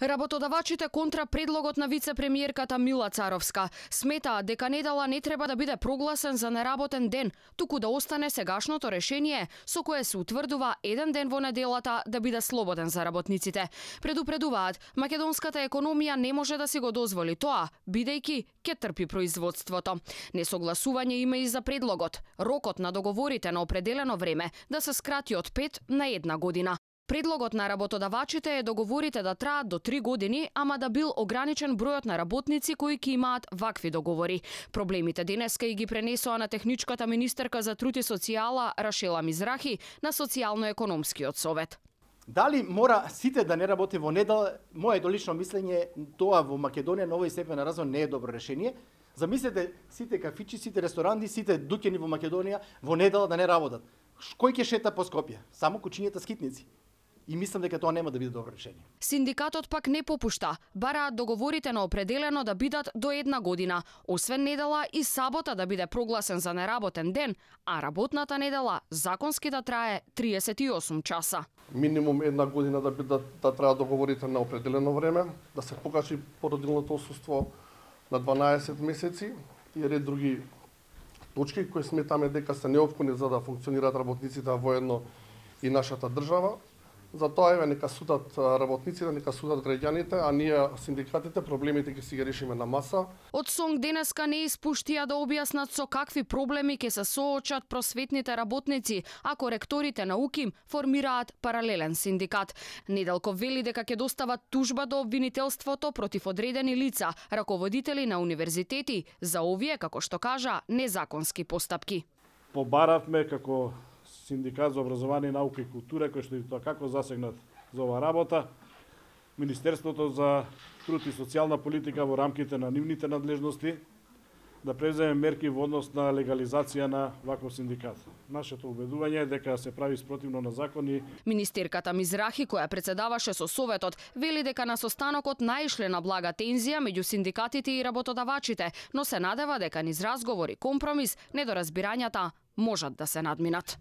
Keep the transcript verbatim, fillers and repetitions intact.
Работодавачите контра предлогот на вице-премиерката Мила Царовска сметаат дека недела не треба да биде прогласен за неработен ден, туку да остане сегашното решение со кое се утврдува еден ден во неделата да биде слободен за работниците. Предупредуваат, македонската економија не може да си го дозволи тоа, бидејќи ќе трпи производството. Несогласување има и за предлогот, рокот на договорите на определено време да се скрати од пет на една година. Предлогот на работодавачите е договорите да траат до три години, ама да бил ограничен бројот на работници кои ќе имаат вакви договори. Проблемите денеска и ги пренесоа на техничката министерка за труд и социјала Рашела Мизрахи на социјално-економскиот совет. Дали мора сите да не работи во недела? Моето лично мислење тоа во Македонија на овој степен на развој не е добро решение. Замислете сите кафичи, сите ресторанти, сите дуќани во Македонија во недела да не работат. Кој ќе шета по Скопје? Само кучињата скитници. И мислам дека тоа нема да биде добро решение. Синдикатот пак не попушта, бараат договорите на определено да бидат до една година, освен недела и сабота да биде прогласен за неработен ден, а работната недела законски да трае триесет и осум часа. Минимум една година да бидат да траат договорите на определено време, да се покажи породилното отсуство на дванаесет месеци и ред други точки кои сметаме дека се неопходни за да функционираат работниците воедно и нашата држава. Затоа еве нека судат работниците, нека судат граѓаните, а ние синдикатите проблемите ќе си ги решиме на маса. Од СОНГ денеска не испуштија да објаснат со какви проблеми ќе се соочат просветните работници ако ректорите на УКИМ формираат паралелен синдикат. Неделков вели дека ќе достават тужба до обвинителството против одредени лица, раководители на универзитети за овие, како што кажа, незаконски постапки. Побаравме како Синдикат за образование, наука и култура, кој што и тоа како засегнат за оваа работа, Министерството за труд и социјална политика во рамките на нивните надлежности да преземе мерки во однос на легализација на ваков синдикат. Нашето убедување е дека се прави спротивно на закони. Министерката Мизрахи, која председаваше со советот, вели дека на состанокот наишле на блага тензија меѓу синдикатите и работодавачите, но се надева дека низ разговори, компромис, недоразбирањата можат да се надминат.